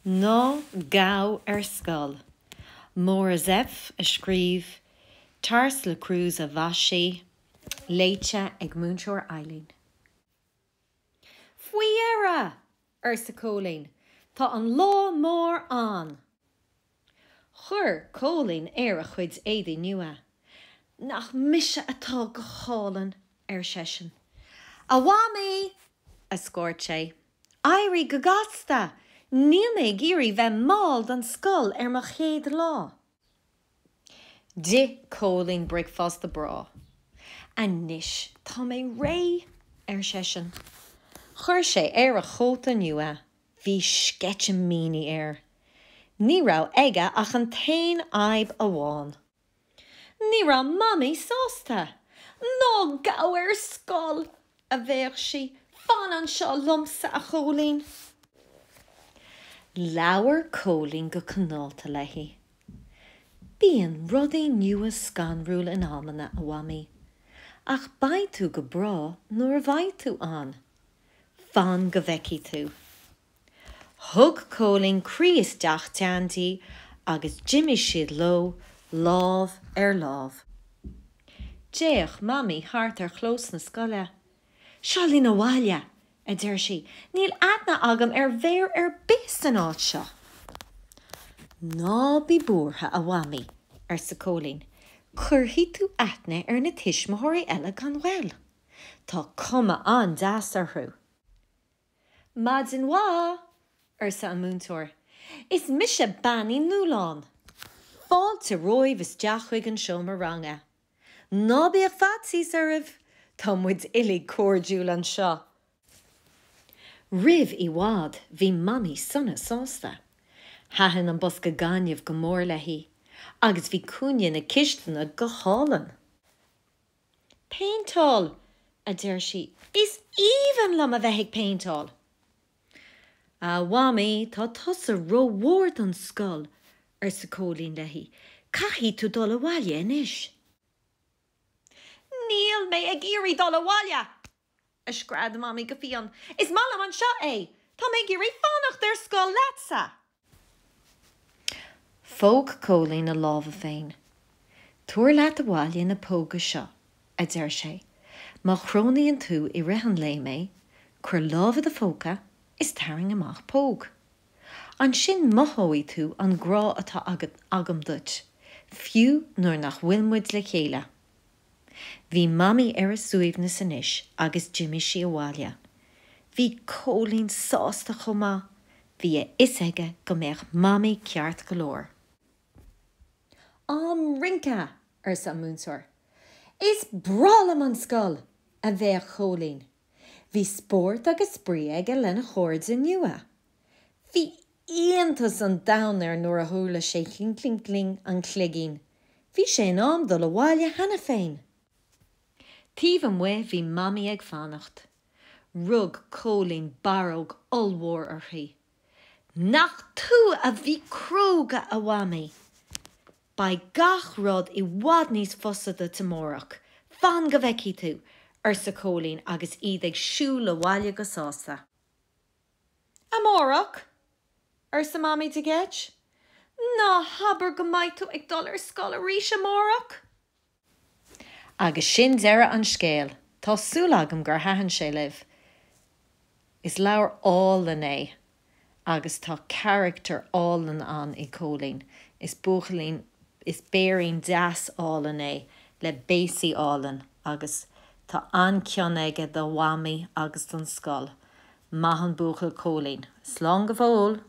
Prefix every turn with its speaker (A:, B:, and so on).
A: Ná Gabh ar Scoil. Máire Zepf a scríobh, Tarsila Krüse a mhaisigh, léite ag Múinteoir Eileen. Faoi dheireadh! arsa Cóilín. Tá an lá mór ann! Chuir Cóilín air a chuid éadaí nua. Nach mise atá go hálainn! ar seisean. A Mhamaí! a scairt sé. Éirigh go gasta! Níl mé ag iarraidh bheith mall don scoil ar mo chéad lá! D'ith Cóilín bricfeasta breá. Anois tá mé réidh! ar seisean. Chuir sé air a chóta nua. Bhí sceitimíní air. Ní raibh aige ach an t-aon fhadhb amháin. Ní raibh Mamaí sásta. Ná gabh ar scoil! a bhéic sí. Fan anseo liomsa, a Chóilín! Labhair Cóilín go cineálta léi. Bíonn rudaí nua scanrúil in amanna, a Mhamaí. Ach beidh tú go breá nuair a bheidh tú ann. Fan go bhfeicfidh tú. Thug Cóilín croí isteach teann di agus d'imigh siad leo lámh ar láimh. D'fhéach Mamaí thart ar chlós na scoile. Seo linn abhaile, a deir sí, níl aithne agam ar mhéar ar bith san áit seo. Ná bí buartha, a Mhamaí, arsa Cóilín, cuirfidh tú aithne ar na tuismitheoirí eile gan mhoill. Tá cuma an-deas orthu. Maidin mhaith! arsa an múinteoir. Is mise Bean Uí Nualláin. Fáilte romhaibh isteach chuig an seomra ranga. Ná bíodh faitíos oraibh, tá muid uilig cairdiúil anseo. Roimh i bhfad bhí Mamaí sona sásta. Thaitin an bosca gainimh go mór léi agus bhí cúinne na cistine go hálainn. Péinteáil! a deir sí. Is aoibhinn liom a bheith ag péinteáil! A Mhamaí, tá tusa rómhór don scoil, arsa Cóilín léi. Caithfidh tú dul abhaile anois. Níl mé ag iarraidh dul abhaile! a scread Mamaí go fiáin. Is maith liom anseo é! Tá mé ag iarraidh fanacht ar scoil leatsa! Phóg Cóilín a lámha féin. Tabhair leat abhaile na póga seo, a deir sé. Má chronaíonn tú i rith an lae mé, cuir lámh i do phóca is tarraing amach póg. Ansin mothóidh tú an grá atá agam duit, fiú nuair nach bhfuil muid le chéile. Bhí Mamaí ar a suaimhneas anois agus d'imigh sí abhaile. Bhí Cóilín sásta chomh maith, bhí a fhios aige go mbeadh Mamaí ceart go leor. Am rince! arsa an múinteoir. Is breá liom an scoil! a bhéic Cóilín. Bhí spórt agus spraoi aige lena chairde nua. Bhí iontas an domhain air nuair a chuala sé cling cling cling an chloigín. Bhí sé in am dul abhaile cheana féin! Taobh amuigh bhí Mamaí ag fanacht. Rug Cóilín barróg ollmhór uirthi. Nach tú a bhí cróga, a Mhamaí! Beidh gach rud i bhfad níos fusa duit amárach, fan go bhfeicfidh tú! arsa Cóilín agus iad ag siúl abhaile go sásta. Amárach? arsa Mamaí de gheit. Ná habair go mbeidh tú ag dul ar scoil arís amárach! Agus sin deireadh an scéil. Tá súil agam gur thaitin sé libh. Is leabhar álainn é agus tá carachtar álainn ann i Cóilín. Is buachaillín, is béirín deas álainn é le béasaí álainn agus tá an-cion aige do Mhamaí agus don scoil. Maith an buachaill Cóilín. Slán go fóill!